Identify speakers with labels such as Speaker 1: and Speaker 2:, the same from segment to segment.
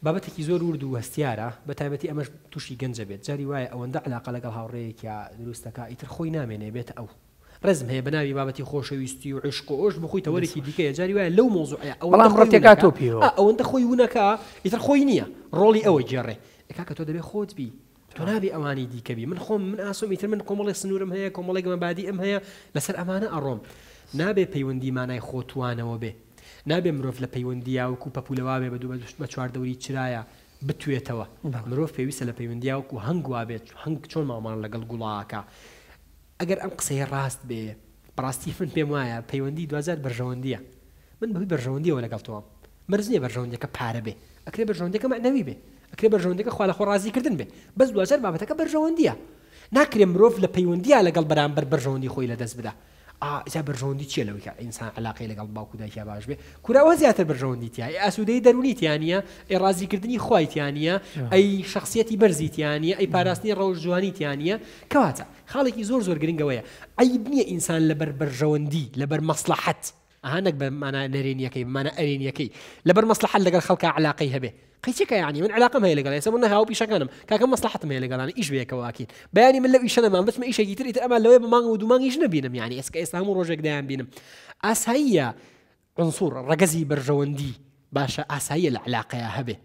Speaker 1: بابەتێکی زۆر ورد و هەستیارە بە تایبەتی ئەمەش توشی گەنجە بێت جاری وایە ئەوەندە عەلاقە لەگەڵ هاوڕێیەکیا دروست دەکا ئیتر خۆی نامێنێ بێتە ئەو ڕێزم هەیە بە ناوی بابەتی خۆشەویستی و عیشق و ئۆش بخۆی تەوەرێکی دیکەیە جاری وایە لەو مەوزوعەیە ئەوەندە
Speaker 2: بەڵام
Speaker 1: خۆی
Speaker 2: ڕەتێکا
Speaker 1: ونەکا
Speaker 2: تۆ پێوە.
Speaker 1: ئا ئەوەندە خۆی ونەکا ئیتر خۆی نییە ڕۆڵی ئەوە گێڕێ ئێ کاکە تۆ دەبێ خۆت بی تۆ نابێ ئەوانی دیکە بی من خۆم من ئاسۆم ئیتر من کۆمەڵێک سنوورم هەیە کۆمەڵێک مەبادیئم هەیە لەسەر ئەمانە ئەڕۆم نابێ پەیوەندی مانای خۆ توانەوە بێ نابێ مرۆڤ لە پەیوەندییا وەکو پەپوولە وابێ بە دوو بە چواردەوری چرایا بتوێتەوە مرۆڤ پێویستە لە پەیوەندییا وەکو هەنگ وابێت هەنگ چۆن مامەڵە لەگەڵ گوڵا ئەکا ئەگەر ئەم قسەیە ڕاست بێ بەڕاستی من پێم وایە پەیوەندی دواجار بەرژەوەندییە من بەهۆی بەرژەوەندیەوە لەگەڵ تۆم مەرج نیە بەرژەوەندیەکە پارە بێ ئەکرێ بەرژەوەندیەکە مەعنەوی بێ ئەکرێ بەرژەوەندیەکە خوا لەخۆ ڕازی کردن بێ بەس دواجار بابەتەکە بەرژەوەندیە ناکرێ مرۆڤ لە پەیوەندیا لەگەڵ بەرامبەر بەرژەوەندی خۆی لەدەست بدا ئا جا بەرژەوەندی چیە لەوەی کە ئینسان عەلاقەی لەگەڵ باوک و دایکیا باش بێ کورە ئەوە زیاتر بەرژەوەندی تیا ئەی ئاسوودەیی دەروونی تیا نیە ئەی ڕازیکردنی خوای تیا نیە ئەی شەخسیەتی بەرزی تیا نیە ئەی پاراستنی ڕەوشت جوانی تیا نیە کەواتە خاڵێکی زۆر زۆر گرنگ ئەوەیە عەیب نیە ئینسان لەبەر بەرژەوەندی لەبەر مەسڵەحەت ئەها نەک بە مانا نەرێنیەکەی بە مانا ئەرێنیەکەی لەبەر مەسڵەحەت لەگەڵ خەڵکا عەلاقەی هەبێ قەیچێکە یانی من عەلاقەم هەیە لەگەڵ ئێستا من هاو پیشەکانم کاکە مەسڵەحەتم هەیە لەگەڵان ئیش بەیەکەوە ئەکەین بەیانی من لەو ئیشە نەمام بچمە ئیشێکی تر ئیتر ئەمان لەوەیە بە مانگ و دوو مانگیش نەبینم یانی ئێستا ئێستا هەموو ڕۆژێک دەیان بینم ئاساییە عنصر ڕەگەزی بەرژەوەندی باشە ئاساییە لە عەلاقەیا هەبێ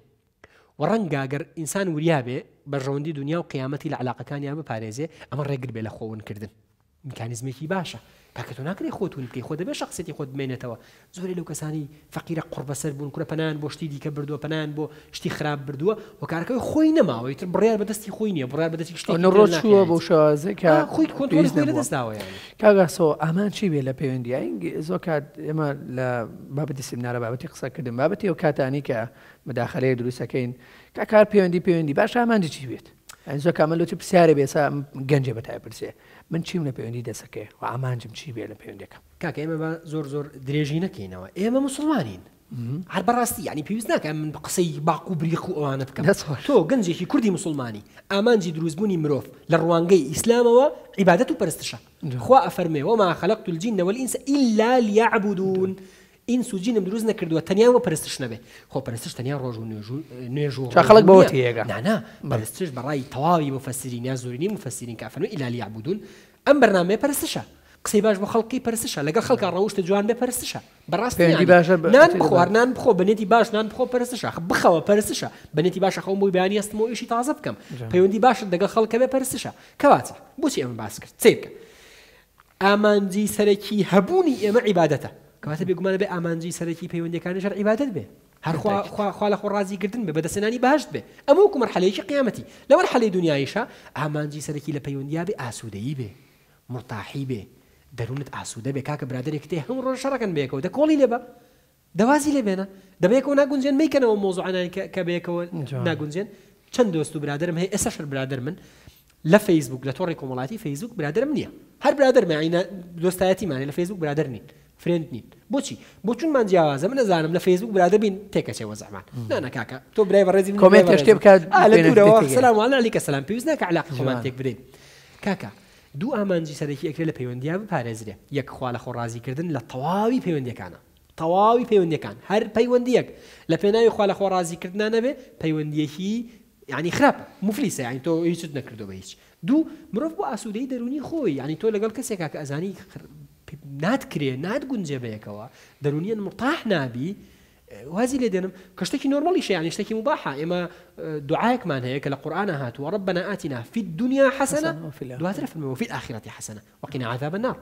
Speaker 1: و ڕەنگە گەر ئینسان وریا بێ بەرژەوەندی دنیا و قیامەتی لە عەلاقەکانیا بپارێزێ ئەمە ڕێگر بێ لە خۆ ون کردن میکانیزمێکی باشە کاکە تۆ ناکرێ خۆت ون بکەی خۆ دەبێ شەخسیەتی خۆت بمێنێتەوە زۆرێ لەو کەسانی فەقیرە قوڕبەسەر بوون کورە پەنایان بۆ شتی دیکە بردووە پەنایان بۆ شتی خراپ بردووە هۆکارەکەی خۆی نەماوە ئیتر بڕیار بەدەستی خۆی نییە بڕیار بەدەستی شتێکی
Speaker 2: تر
Speaker 1: تر
Speaker 2: چووە بۆ
Speaker 1: ناکرێت
Speaker 2: شێوازێک کە
Speaker 1: ئا خۆی کۆنترۆڵی
Speaker 2: پێویست
Speaker 1: خۆی
Speaker 2: نەبووە
Speaker 1: لەدەست داوە یانی.
Speaker 2: کاک ئاسۆ ئامانج چی بێ لە پەیوەندی زۆر کات ئێمە لە بابەتی سیمینارە بابەتی قسەکردن بابەتی ئەو کاتانی کە مداخەلەیەک دروست ئەکەین کاک هەر پەیوەندی پەیوەندی باشە ئامانجی چی بێت یانی زۆر کامە لۆ چ پرسیارێ بێ ئێستا گەنجێ بەتای پرسێ من چیم لە پەیوەندی دەسەکەێ و ئامانجم چی بێ لە پەیوەندەکەم.
Speaker 1: کاکە ئێمە با زۆر زۆر درێژی نەکەینەوە ئێمە موسڵمانین هەر بەڕاستی یانی پێویست ناکە من قسەی باق و بریق و ئەوانە بکەم تۆ گەنجێکی کوردی موسڵمانی ئامانجی دروستبوونی مرۆڤ لە ڕوانگەی ئیسلامەوە عیبادەت و پەرستشە خوا ئەفەرمێ وما خلقت الجن والإنس إلا ليعبدون ئینس و جینم دروست نەکردووە تەنیا بۆ پەرستش نەبێ خۆ پەرستش تەنیا ڕۆژ و نوێژ و نوێژ و
Speaker 2: چا خەڵک
Speaker 1: ڕۆژوو
Speaker 2: بەوە
Speaker 1: نییە
Speaker 2: تێیەگا.
Speaker 1: نا نا پەرستش بە ڕای تەواوی موفەسیرین یا زۆرینەی موفەسیرین کە ئەفەرموون الا لیعبدون ئەم بەرنامەیە پەرستشە قسەی باش بۆ خەڵک بکەی پەرستشە لەگەڵ خەڵکا ڕەوشتت جوان بێ پەرستشە بەڕاستی
Speaker 2: پەیوەندی
Speaker 1: یانی
Speaker 2: باشە بە
Speaker 1: نان
Speaker 2: تێ
Speaker 1: بخۆ هەر
Speaker 2: دەبات.
Speaker 1: نان بخۆ بە نێتی باش نان بخۆ پەرستشە بخەوە پەرستشە بە نێتی باش ئەخەوم بۆی بەیانی هەستمەوە ئیشی تازە بکەم
Speaker 2: جوان.
Speaker 1: پەیوەندی باشت لەگەڵ خەڵک هەبێ پەرستشە کەواتە بۆچی ئەمە باس کرد سەیر بکە ئامانجی سەرەکی هەبوونی ئێمە عیبادەتە، کەواتە بێگومان ئەبێ ئامانجی سەرەکی پەیوەندیەکانیش هەر عیبادەت بێ، هەر خوا خوا خوا لە خۆ ڕازی کردن بێ، بەدەستهێنانی بەهەشت بێ، ئەمە وەکو مەرحەلەیەکی قیامەتی. لە مەرحەلەی دونیاییشا ئامانجی سەرەکی لە پەیوەندیا بێ ئاسوودەیی بێ، مورتاحی بێ، دەروونت ئاسوودە بێ، کاکە برادەرێکت هەیە هەموو ڕۆژ شەڕەکەن بەیەکەوە دە کۆڵی لێ بە، دە وازی لێ بێنە دە بەیەکەوە ناگونجێن مەیکەنەوە ئەو مەوزوعانەی کە کە بەیەکەوە ناگونجێن چەند دۆست و برادەرم هەیە ئێستاش هەر برادەرمن لە فەیسبوک لە تۆڕی کۆمەڵایەتی فەیسبوک برادەرم نییە هەر برادەرمە یانی دۆستایەتیمانە لە فەیسبوک برادەر نین friend نین بۆچی بۆچونمان جیاوازە من ئەزانم لە فەیسبوک برادەر بین تێکەچێ وەزعمان نا نا کاکە تۆ برای بەڕێزی من برای
Speaker 2: کۆمێنتێ شتێ
Speaker 1: بەڕێزم
Speaker 2: بکات
Speaker 1: ئا لە
Speaker 2: بێنە
Speaker 1: دوورەوە
Speaker 2: تێگەیە.
Speaker 1: سلام علیک سلام پێویست ناکە علاقەی خۆمان
Speaker 2: جوان.
Speaker 1: تێک بدەین کاکە دوو ئامانجی سەرەکی ئەکرێ لە پەیوەندیا بپارێزرێ یەک خوا لە خۆ ڕازی کردن لە تەواوی پەیوەندیەکانا تەواوی پەیوەندیەکان هەر پەیوەندیەک لە پێناوی خوا لە خۆ ڕازی کردنا نەبێ پەیوەندیەکی یانی خراپە موفلیسە یانی تۆ هیچت نەکردوە بە هیچ دوو مرۆڤ بۆ ئاسوودەیی دەروونی خۆی یانی تۆ لەگەڵ کەسێکا کە ئەزانی ناتکرێ ناتگونجێ بەیەکەوە دەروونیەن مورتاح نابی وازی لێ دێنم کە شتێکی نۆرمەڵیشە یانی شتێکی موباحە ئێمە دوعایەکمان هەیە کە لە قورئانا هاتووە ربنا آتنا فی الدنیا حسنە دواتر فەرمووی وفی الآخرة حسنە وقنا عذاب النار.